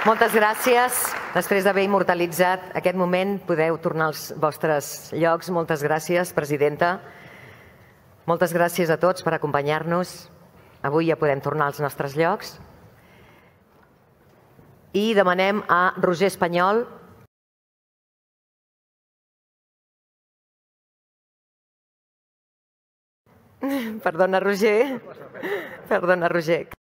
Moltes gràcies. Després d'haver immortalitzat aquest moment, podeu tornar als vostres llocs. Moltes gràcies, presidenta. Moltes gràcies a tots per acompanyar-nos. Avui ja podem tornar als nostres llocs. I demanem a Roger Espanyol. Perdona, Roger. Perdona, Roger.